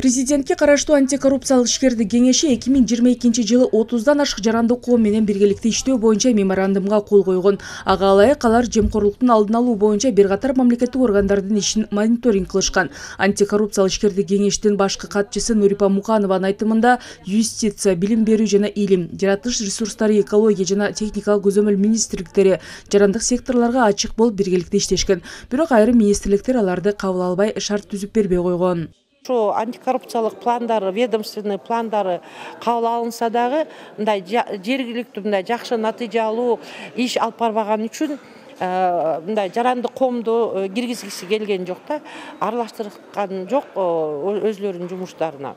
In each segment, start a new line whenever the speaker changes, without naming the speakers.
Президентке караштуу антикоррупциялык ишкердик кеңеши 2022 жылы 30дан ашык жарандык коом менен биргеликте иштөө боюнча меморандумга кол койгон. Ага ылайык алар жемкорлуктун алдын алуу боюнча бир катар мамлекеттик органдардын ишин мониторинг кылышкан. Антикоррупциялык ишкердик кеңештин башкы катчысы Нурипа Муканованын айтымында, юстиция, билим берүү жана илим, жаратылыш ресурстары, экология жана техникалык көзөмөл министрликтери жарандык секторлорго ачык болуп биргеликте иштешкен. Бирок айрым министрликтер аларды кабыл албай шарт түзүп бербей койгон.
Ошо антикоррупциялык пландары, ведомственный пландары кабыл алынса дагы, мындай жергиликтүү мындай жакшы натыйжа алуу иш алып барбаган үчүн мындай жарандык коомду киргизгиси келген жок да, аралаштырган жок өзлөрүнүн жумуштарына.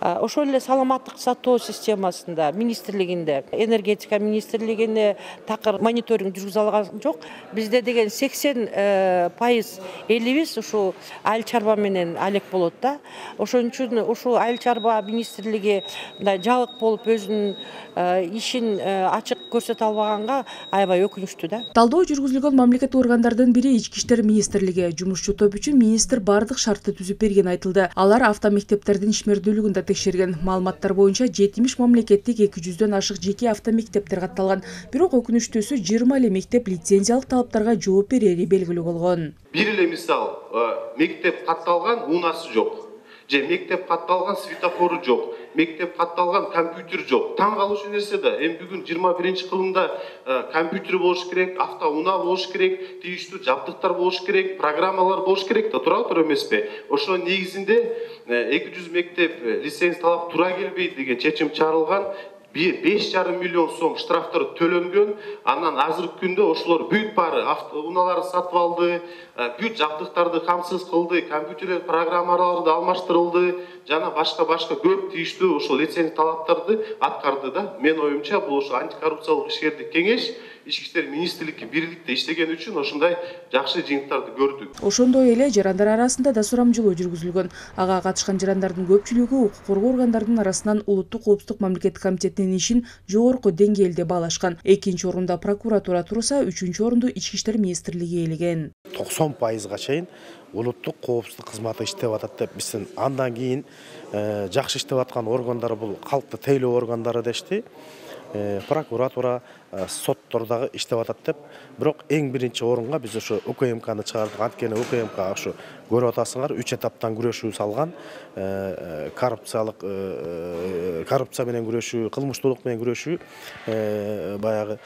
Ошол эле саламаттык сактоо системасында, министрлигинде, энергетика министрлигине такыр мониторинг жүргүзө алган жок. Бизде деген 80% элибиз ушу айыл чарба менен алек болот да. Ошон үчүн ушу айыл чарба министрлиги мындай жабык болуп өзүнүн ишин ачык көрсөтө албаганга аябай өкүнүчтүү да.
Талдоо жүргүзүлгөн мамлекеттик органдардын бири Ички иштер министрлиги. Жумушчу топ үчүн министр бардык шартты түзүп берген айтылды. Алар автомектептердин ишмердүүлүгүн да текшерген. Маалыматтар боюнча 70 мамлекеттик 200дөн ашык жеке автомектептер катталган. Бирок өкүнүчтүүсү 20 эле мектеп лицензиялык талаптарга жооп берери белгилүү болгон.
Бир эле мисал, мектеп катталган, унаасы жок. Же мектеп катталган, светофору жок. Мектеп катталган, компьютер жок. Таң калуучу нерсе да, эми бүгүн 21-кылымда компьютер болуш керек, автоунаа болуш керек, тийиштүү жабдыктар болуш керек, программалар болуш керек да, тура эмеспи? Ошо негизинде 200 мектеп лицензия талап тура келбейт деген чечим чыгарылган. 5,5 миллион сом штрафтар төлөнгөн. Андан азыркы күндө ошолор бүт баары автоунааларды сатып алды, бүт жабдыктарды камсыз кылды, компьютерлер программаларды алмаштырылды, жана башка көп тийиштүү ошол лицензия талаптарды аткарды да. Мен оюмча бул ошо антикоррупциялык ишкердик кеңеш Ички иштер министрлиги бирликте иштеген үчүн ошондой жакшы жыйынтыктарды көрдүк.
Ошондой эле жарандар арасында да сурамжылоо жүргүзүлгөн. Ага катышкан жарандардын көпчүлүгү укук коргоо органдарынын арасынан улуттук коопсуздук мамлекеттик комитетинин ишин жогорку деңгээлде баалашкан. Экинчи орунда прокуратура турса, үчүнчү орунду Ички иштер министрлиги ээлеген.
90%га чейин улуттук коопсуздук кызматы иштеп атат деп биздин андан кийин жакшы иштеп аткан органдар бул калкты тейлөө органдары дешти. Прокуратура, соттор дагы иштеп атат деп. Бирок эң биринчи орунга биз ошо УКМКны чыгардык. Анткени УКМК ошо көрүп атасыңар 3 этаптан күрөшүү салган. Коррупция менен күрөшүү, кылмыштуулук менен күрөшүү баягы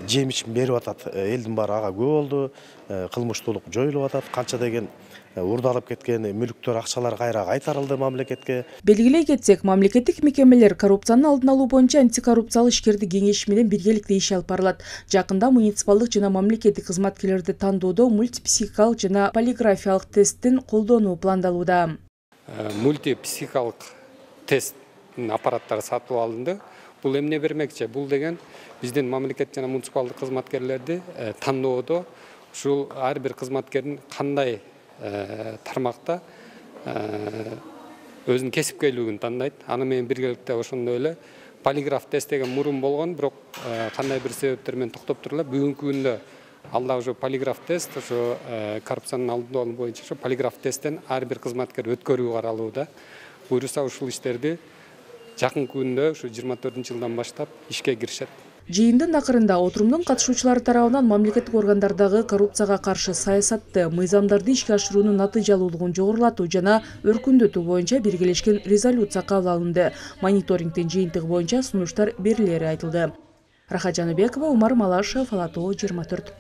жемишин берип атат. Элдин баары ага күбө болду. Кылмыштуулук жоюлуп атат. Канча деген урдалып кеткен мүлүктөр, акчалар кайра кайтарылды мамлекетке.
Белгилей кетсек, мамлекеттик мекемелер коррупциянын алдын алуу боюнча антикоррупциялык ишкердик кеңеши менен биргеликте иш алып барылат. Жакында муниципалдык жана мамлекеттик кызматкерлерди тандоодо мультипсихикалык жана полиграфиялык тесттин колдонуу пландалууда.
Мультипсихикалык тесттин аппараттары сатып алынды. Бул эмне бермекчи? Бул деген биздин мамлекеттик жана муниципалдык кызматкерлерди тандоодо ушул ар бир кызматкердин кандай тармакта өзүнүн кесипкерлигин тандайт. Аны менен биргеликте ошондой эле полиграф тест деген мурун болгон, бирок кандай бир себептер менен токтоп турулат. Бүгүнкү күндө алда ошо полиграф тест, ошо коррупциянын алдын алуу боюнча ошо полиграф тесттен ар бир кызматкер өткөрүү каралууда. Буюрса ушул иштерди жакынкы күндө ушу 24-жылдан баштап ишке киришет.
Жыйындын акырында отурумдун катышуучулары тарабынан мамлекеттик органдардагы коррупцияга каршы саясатты, мыйзамдарды ишке ашыруунун натыйжалуулугун жогорулатуу жана өркүндөтүү боюнча биргелешкен резолюция кабыл алынды. Мониторингдин жыйынтыгы боюнча сунуштар берилери айтылды. Рахат Жаныбекова, Умар Малашев, Ала Тоо 24.